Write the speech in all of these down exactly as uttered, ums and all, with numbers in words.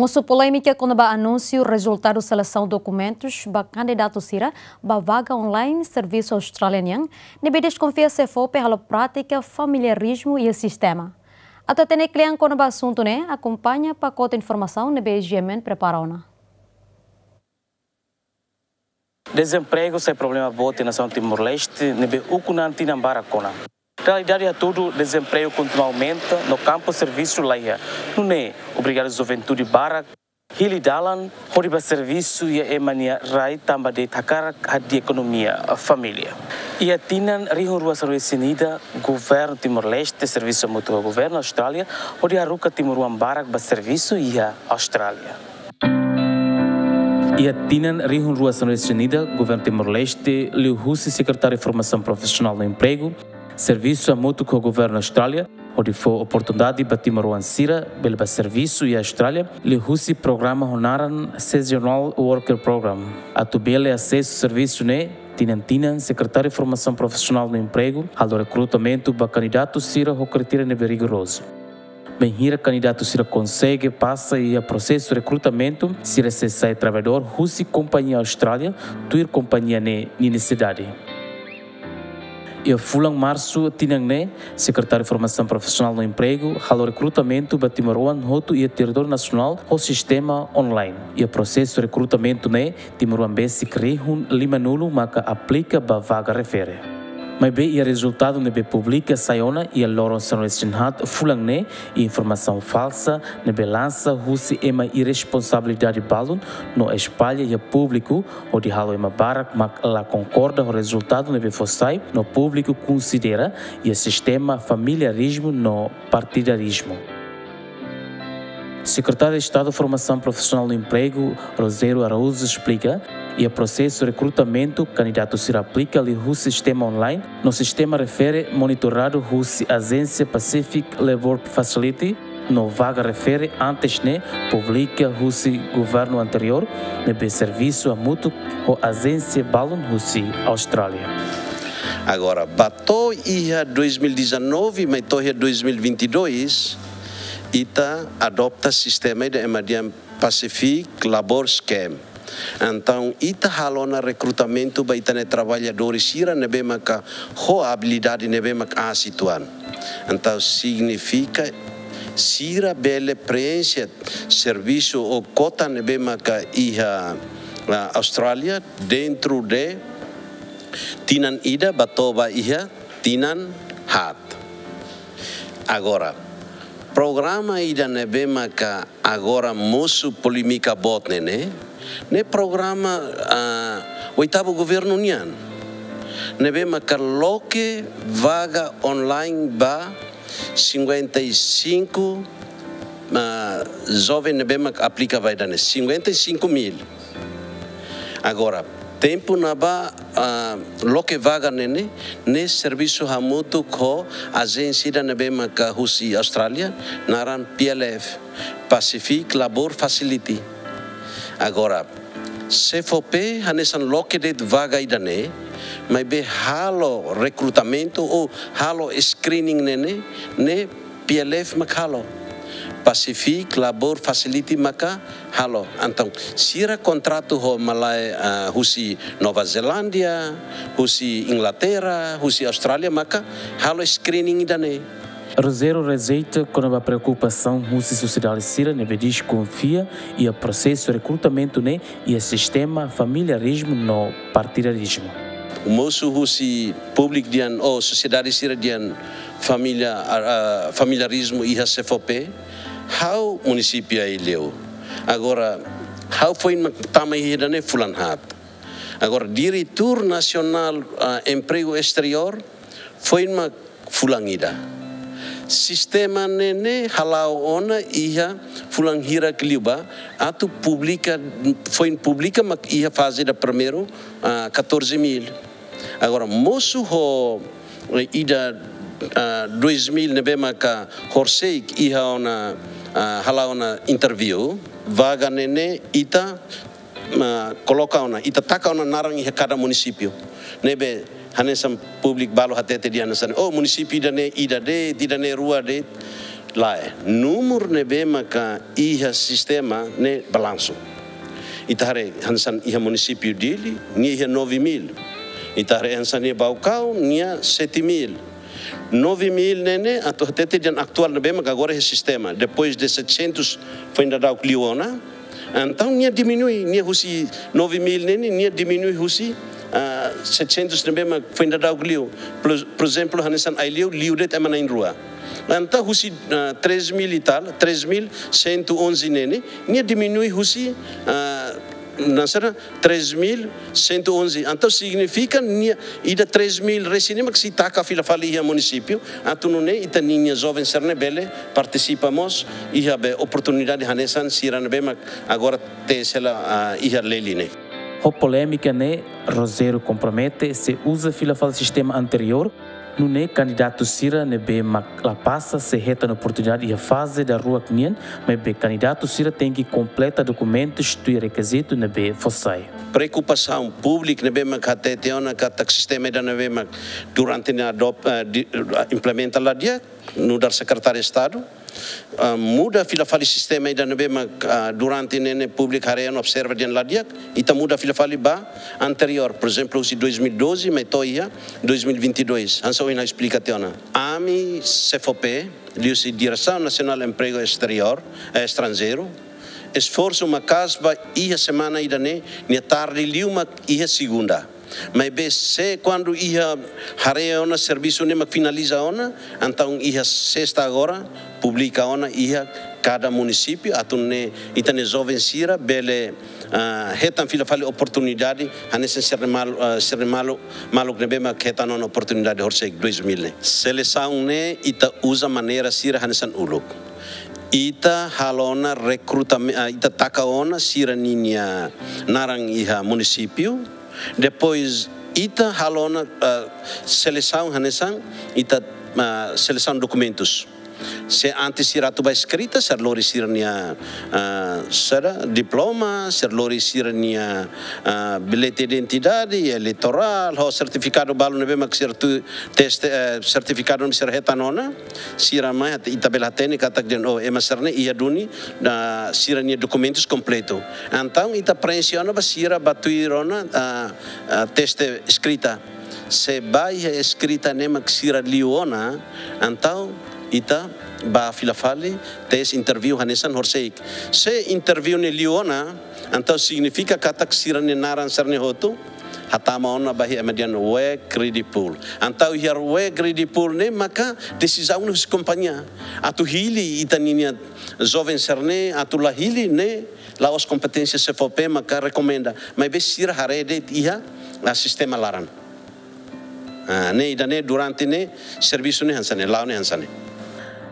Mosu polémika kona-ba anúnsiu rezultadu selesaun dokumentus ba kandidatu sira ba vaga online servisu Austrália nian, ne'ebé deskonfia SEFOPE halo prátika familiarizmu iha sistema. Atu hatene kle'an kona-ba asuntu ne'e, akompaña pakote informasaun ne'ebé GMN prepara ona. Dezempregu sai problema boot iha nasaun Timor-Leste, ne'ebé ukun an tinan barak ona. Realidade hatudu, dezempregu kontinua aumenta, no kampu servisu laiha. Nune'e, obrigadu juventude barak hili dalan hodi bá servisu iha ema nia rai tanba de'it hakarak hadi'a ekonomia família. Iha tinan rihun rua sanulu-resin-ida, governu Timor-Leste servisu hamutuk ho governu Austrália hodi haruka timoroan barak bá servisu iha Austrália. Iha tinan rihun rua sanulu-resin-ida, governu Timor-Leste, liuhusi Sekretáriu Formasaun Profisionál no Empregu, servisu hamutuk ho governu Austrália hodi fó oportunidade ba timoroan sira bele bá servisu iha Austrália, liuhusi programa ho naran Seasonal Worker Program. Atu bele asesu servisu ne'e, tinan-tinan Sekretáriu Formasaun Profisionál no Empregu halo rekrutamentu ba kandidatu sira ho kritéria ne'ebé rigorozu. Bainhira kandidatu sira konsege pasa iha prosesu rekrutamentu, sira sei sai traballadór husi kompañia Austrália, tuir kompañia ne'e nia nesesidade. Iha fulan Marsu tinan ne'e, Sekretáriu Formasaun Profisionál no Empregu halo rekrutamentu ba timoroan hotu iha territóriu nasionál ho sistema online. Iha prosesu rekrutamentu ne'e, timoroan besik rihun limanulu maka aplika ba vaga refere. Maibé iha rezultadu ne'ebé publika sai ona iha loron sanulu-resin-haat fulan ne'e, iha informasaun falsa ne'ebé lansa husi ema irresponsabilidade balun no espalla iha públiku, hodi halo ema barak mak la konkorda ho rezultadu ne'ebé fó sai, no públiku konsidera iha sistema familiarizmu no partidarizmu. Sekretáriu Estadu Formasaun Profisionál no Empregu, Rogério Araújo, esplika, iha prosesu rekrutamentu, kandidatu sira aplika liuhusi sistema online, no sistema refere monitoradu husi ajénsia Pacific Labour Facility, no vaga refere antes ne'e publika husi governu anteriór, ne'ebé servisu hamutuk ho ajénsia balun husi Austrália. Agora, ba to'o iha dois mil e dezanove, mai to'o iha dois mil e vinte e dois, ita adopta sistema ida ema dehan Pacific Labour Scheme. Entaun, ita halo ona rekrutamentu ba ita-nia traballadór sira ne'ebé maka ho abilidade ne'ebé maka aas uitoan. Entaun, signifika sira bele preenxe servisu ou kota ne'ebé maka iha, ah, Austrália dentro de tinan ida ba to'o ba iha tinan haat. Agora, programa ida ne'ebé maka agora mosu polémika boot ne'e, ne'e programa, ah, oitavu governu nian. Ne'ebé maka loke vaga online ba cinquenta e cinco, ah, joven ne'ebé maka aplika ba ida-ne'e, cinquenta e cinco mil. Agora, tempu ne'ebá, ah, loke vaga ne'e, ne'e servisu hamutuk ho ajénsia ida ne'ebé maka husi Austrália, naran P L F, Pacific Labour Facility. Agora, SEFOPE hanesan loke de'it vaga ida-ne'e, maibé halo rekrutamentu ou halo screening ne'e, ne'e P L F maka halo. Pacific Labour Facility maka halo. Entaun, sira kontratu ho malae, ah, husi Nova Zelándia, husi Inglaterra, husi Austrália maka halo screening ida-ne'e. Rogério rejeita kona-ba preokupasaun husi sosiedade sira ne'ebé deskonfia iha prosesu rekrutamentu ne'e iha sistema familiarizmu no partidarizmu. Mosu husi públiku dehan, ou sosiedade sira dehan familia, ah, ah, familiarizmu iha SEFOPE, ha'u munisípiu Aileu. Agora, ha'u foin mak tama iha ida-ne'e fulan haat. Agora, Diretór Nasionál, ah, Empregu Esteriór, foin mak fulan ida. Sistema ne'e ne'e hala'o ona iha fulan hirak liubá, atu publika, foin publika mak iha faze ida primeiru, ah, catorze mil. Agora, mosu ho, eh, ida, ah, dois mil ne'ebé maka horisehik iha ona, ah, hala'o ona interview, vaga ne'e ne'e ita, ah, koloka ona, ita taka ona naran iha kada munisípiu. Ne'ebé hanesan públiku balu hatete dehan hanesan, oh, munisípiu ida-ne'e ida de'it, ida-ne'e rua de'it. Lae, númeru ne'ebé maka iha sistema ne'e balansu. Ita haree hanesan iha munisípiu Dili, nia iha nove mil. Ita haree hanesan iha Baucau, nia sete mil. Nove mil ne'e ne'e, atu hatete dehan atuál ne'ebé maka agora iha sistema. Depois de setecentos foin daudauk liu ona, entaun nia diminui, nia husi nove mil ne'e ne'e, nia diminui husi, ah, setecentos ne'ebé maka foin daudauk liu. Por, por ezemplu, hanesan Aileu, liu de'it ema na'in-rua. Entaun husi, ah, três mil e tal, três mil cento e onze ne'e ne'e, nia diminui husi, ah, hanesan três mil cento e onze. Entaun signifika nia ida três mil resin ne'e mak sei taka fila fali iha munisípiu, atu nune'e ita-nia joven sira-ne'e bele partisipa mós iha be oportunidade hanesan sira ne'ebé mak agora teste la, ah, iha Lely ne'e. Ho polémika ne'e, Rogério kompromete sei uza fila fali sistema anteriór, nune'e kandidatu sira ne'ebé mak la pasa sei hetan oportunidade iha faze daruak nian, maibé kandidatu sira tenke kompleta dokumentus tuir rekizitu ne'ebé fó sai. Preokupasaun públiku ne'ebé mak hatete ona katak sistema ida ne'ebé mak durante ne'e adop-, eh, di-, eh, implementa la di'ak, nu'udar Sekretáriu Estadu, ah, muda fila fali sistema ida ne'ebé mak, ah, durante ne'e ne'e públiku haree no observa dehan la di'ak, ita muda fila fali ba anteriór, por ezemplu, husi dois mil e doze, mai to'o iha dois mil e vinte e dois, hanesan ohin ha'u esplika tiha ona. Ami, SEFOPE, liuhusi Diresaun Nasionál Empregu Esteriór, eh, Estranjeiru, esforsu maka'as ba iha semana ida ne'e, nia tarde liu mak iha segunda. Maibé se kuandu iha haree ona servisu ne'e mak finaliza ona, entaun iha sesta agora, publika ona iha kada munisípiu, atu nune'e ita-nia joven sira bele, ah, hetan fila fali oportunidade, hanesan sira-nia mal-, ah, sira-nia malu-, maluk ne'ebé mak hetan ona oportunidade horisehik dois mil ne'e. Selesaun ne'e ita uza maneira sira hanesan uluk. Ita halo ona rekrutame-, ah, ita taka ona sira ninia naran iha munisípiu, depois ita halo ona, ah, selesaun hanesan ita, ah, selesaun dokumentus. Se antes sira atu ba eskrita, sira lori sira-nia, ah, sira diploma, sira lori sira-nia, ah, bilhete identidade, eleitorál, ho sertifikadu balu ne'ebé mak sira atu teste, eh, sertifikadu ne'ebé sira hetan ona, sira mai hat-, ita bele hatene katak dehan, oh, ema sira-ne'e iha duni, ah, sira-nia dokumentus kompletu. Entaun ita prenxe ona ba sira ba tuir ona, ah, ah, teste eskrita. Se ba iha eskrita ne'e mak sira liu ona, entaun ita ba fila fali, teste interview hanesan horisehik. Se interview ne'e liu ona, entaun signifika katak sira-nia naran sira-ne'e hotu hatama ona ba iha ema dehan work ready pool. Entaun iha work ready pool ne'e maka desizaun husi kompañia atu hili ita ninia joven sira-ne'e, atu la hili ne'e la'ós kompeténsia SEFOPE maka rekomenda. Maibé sira haree de'it iha, ah, sistema laran. Ah, ne'e ida ne'e durante ne'e servisu ne'e hanesan ne'e, la'o ne'e hanesan ne'e.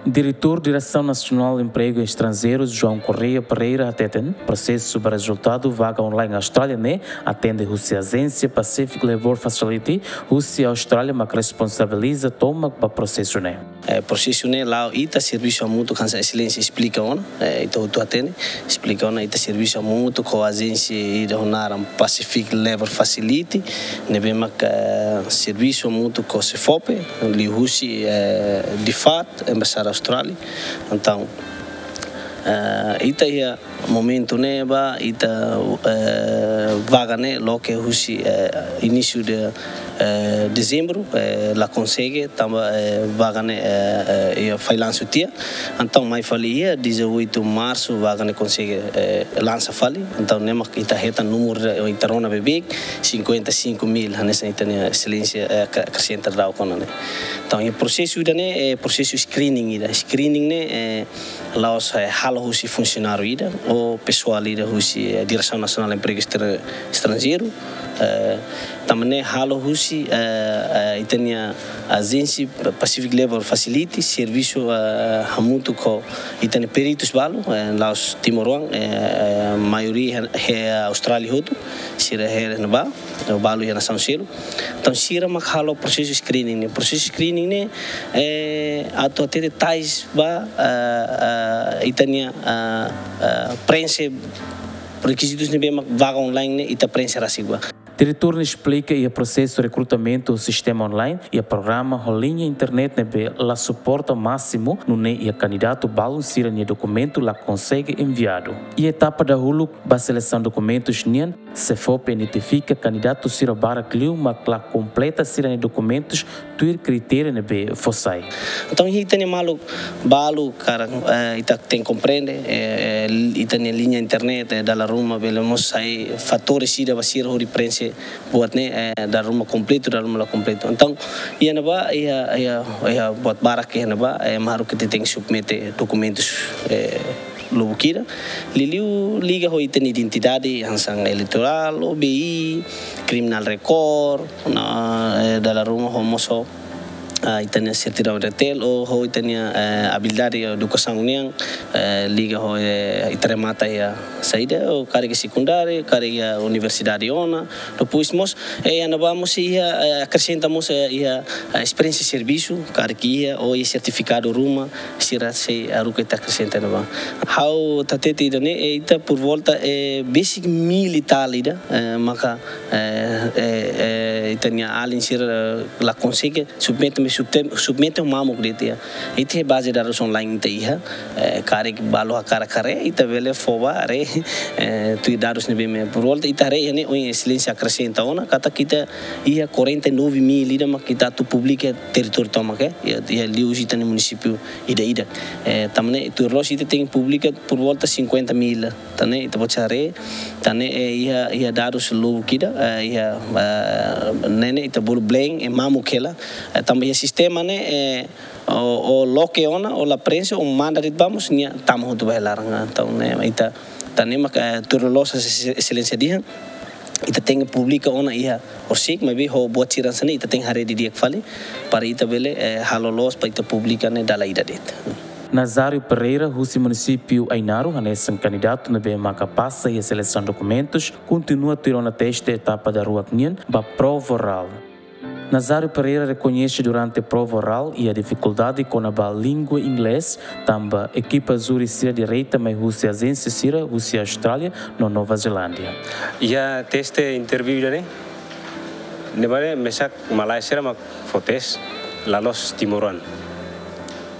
Diretór Diresaun Nasionál Empregu Estranjeiru, João Correia Pereira, hateten, prosesu ba rezultadu vaga online Austrália ne'e atende husi ajénsia Pacific Labour Facility, husi Austrália mak responsabiliza tomak ba prosesu ne'e. Eh, prosesu ne'e la'o ita, servisu hamutuk hanesan Exelénsia esplika ona, eh, ita hotu hatene, esplika ona ita servisu hamutuk ho ajénsia ida ho naran Pacific Labour Facility, ne'ebé maka, eh, servisu hamutuk ho SEFOPE, liuhusi, eh, DFAT, Embaixada Austrália. Entaun, eh, ita iha momentu ne'e ba ita, eh, vaga ne'e loke husi, eh, inísiu de, eh, dezembru, eh, la konsege, tanba, eh, vaga ne'e, eh, eh, iha fallansu tiha. Entaun mai fali iha dezoito marsu vaga ne'e konsege, eh, lansa fali. Entaun ne'e mak ita hetan númeru ita rona beibeik, cinquenta e cinco mil, hanesan ita-nia Exelénsia, eh, ka-, akresenta daudaun ona ne'e. Entaun, iha prosesu ida ne'e, eh, prosesu screening ida. Screening ne'e, eh, la'ós, eh, halo husi funsionáriu ida ou pesoál ida husi, eh, Diresaun Nasionál Empregu Estra-, Estranjeiru, eh, tanba ne'e halo husi, eh, eh, ita-nia ajénsia Pacific Labour Facility, servisu, eh, hamutuk ho ita-nia peritus balu, eh, la'ós timoroan, eh, eh, maioria iha, iha Austrália hotu, sira iha ne'ebá, balu iha nasaun seluk. Entaun, sira mak halo prosesu screening ne'e. Prosesu screening ne'e, eh, atu hatete tais ba, eh, eh, ita-nia, eh, eh, prenxe rekizitus ne'ebé mak vaga online ne'e ita prenxe rasik ba. Diretór ne'e esplika iha prosesu rekrutamentu ho sistema online, iha programa ho liña internet ne'ebé la suporta másimu, nune'e iha kandidatu balun sira-nia dokumentu la konsege enviadu. Iha etapa dahuluk ba selesaun dokumentus nian, SEFOPE identifika kandidatu sira barak liu mak la kompleta sira-nia dokumentus tuir kritéria ne'ebé fó sai. Entaun, ita-nia maluk balu, karik, eh, ita tenke komprende, eh, ita-nia liña internet, eh, dala ruma bele mós sai fatór ida ba sira hodi preenxe buat ne'e, eh, dala ruma kompletu, dala ruma la kompletu. Entaun, iha ne'ebá, iha, iha, iha buat barak iha ne'ebá, eh, mak haruka ita tenke submete dokumentus, eh, lubuk ida. Liuliu liga ho ita-nia identidade, hanesan eleitorál, O B I, criminal record, no, eh, dala ruma ho mós ho, ah, ita-nia sertidaun R T L, ou ho ita-nia, eh, abilidade edukasaun nian, eh, liga ho, eh, ita remata iha saida, ou karik sekundáriu, karik universidade ona, depois mós, eh, iha ne'ebá mós iha, eh, akresenta mós, eh, iha, eh, esperiénsia servisu, karik iha, ou iha sertifikadu ruma, sira sei haruka ita akresenta ne'ebá. Ha'u hatete ida-ne'e, eh, ita por volta, eh, besik mil e tal ida, eh, maka, eh, eh, eh, ita-nia alin sira, eh, la konsege submete, me subte-, submete mamuk de'it iha. Ita baze dadus online ita iha, eh, karik balu hakarak haree, ita bele fó ba haree, eh, tuir dadus ne'ebé mak por volta ita haree iha ne'e, ohin Exelénsia akresenta ona, katak ita iha quarenta e nove mil ida mak ita atu publika territóriu tomak, eh, iha, iha liuhusi ita-nia munisípiu ida-idak. Eh, tanba ne'e tuir loos ita tenke publika por volta cinquenta mil. Tan ne'e ita pode haree, tan ne'e, eh, iha, iha dadus lubuk ida, eh, iha, eh, ne'e ne'e ita bolu blank, eh, mamuk hela, eh, tanba iha sistema ne'e, eh, o, o loke ona, o la preenxe, o manda de'it ba mós, nia tama hotu ba iha laran. Entaun ne'e ita, tan ne'e mak, eh, tuir loos Exelénsia dehan, ita tenke publika ona iha Orsik, maibé ho buat sira hanesan ne'e ita tenke haree didi'ak fali, para ita bele, eh, halo loos para ita publika ne'e dala ida de'it. Nazário Pereira, husi munisípiu Ainaro, hanesan kandidatu ne'ebé maka pasa iha selesaun dokumentus, kontinua tuir ona teste etapa daruak nian ba prova orál. Nazário Pereira rekoñese durante prova orál iha difikuldade kona-ba língua inglés, tanba ekipa júri sira direta mai husi ajénsia sira husi Austrália no Nova Zelándia. Iha teste interview ida-ne'e, ne'ebé mesak malae sira mak fó teste, la'ós timoroan.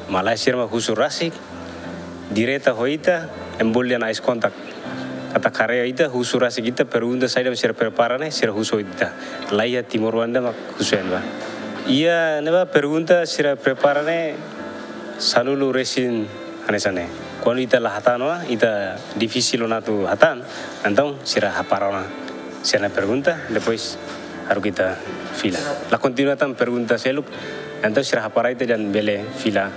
Malae sira mak husu rasik, direta ho ita, ema bolu dehan eye contact. Katak haree ita, husu rasik ita, pergunta saida mak sira prepara ne'e, sira husu ita. La iha timoroan ida mak husu iha ne'ebá. Iha ne'ebá pergunta sira prepara ne'e sanulu resin hanesan ne'e. Kuandu ita la hatán ona, ita difisil ona atu hatán, entaun sira hapara ona sira-nia pergunta, depois haruka ita fila. La kontinua tan pergunta seluk, entaun sira hapara ita dehan bele fila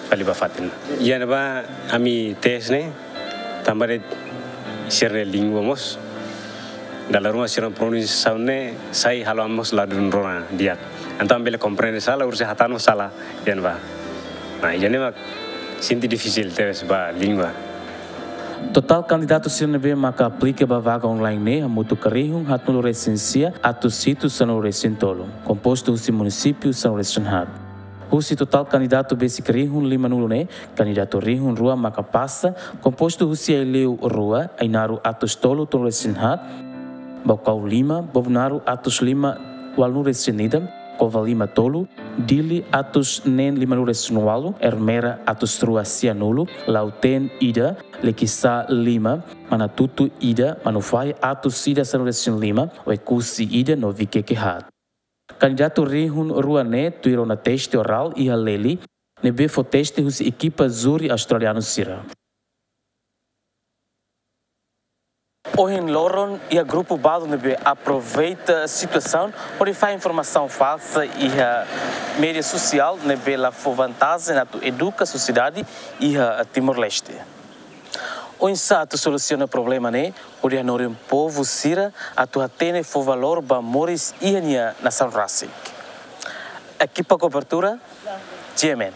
fali ba fatin. Iha ne'ebá ami teste ne'e, tanba de'it sira-nia língua mós, dala ruma sira-nia pronunsiasaun ne'e sai halo ami mós ladún rona di'ak. Entaun bele komprende sala, orsida hatán mós sala, iha ne'ebá. Nah, iha ne'e mak sente difisil tebes ba língua. Totál kandidatu sira ne'ebé maka aplika ba vaga online ne'e hamutuk rihun haatnulu resin sia atus hitu sanulu resin tolu, kompostu husi munisípiu sanulu resin haat. Husi totál kandidatu besik rihun limanulu ne'e, kandidatu rihun rua maka pasa, kompostu husi Aileu rua, Ainaro atus tolu tolu resin haat, Baucau lima, Bobonaro atus lima ualunulu resin ida, Covalima tolu, Dili atus neen limanulu resin ualu, Ermera atus rua sianulu, Lautém ida, Liquiçá lima, Manatuto ida, Manufahi atus ida sanulu resin lima, Oekusi ida no Viqueque haat. Kandidatu rihun rua ne'e tuir ona teste orál iha Lely, ne'ebé fó teste husi ekipa júri australianu sira. Ohin loron iha grupu balu ne'ebé aproveita situasaun hodi fahe informasaun falsa iha média sosiál ne'ebé la fó vantajen atu eduka sosiedade iha Timor-Leste. Oinsá atu solusiona problema ne'e hodi hanorin povu sira atu hatene fó valór ba moris iha nia nasaun rasik. Ekipa kobertura, G M N.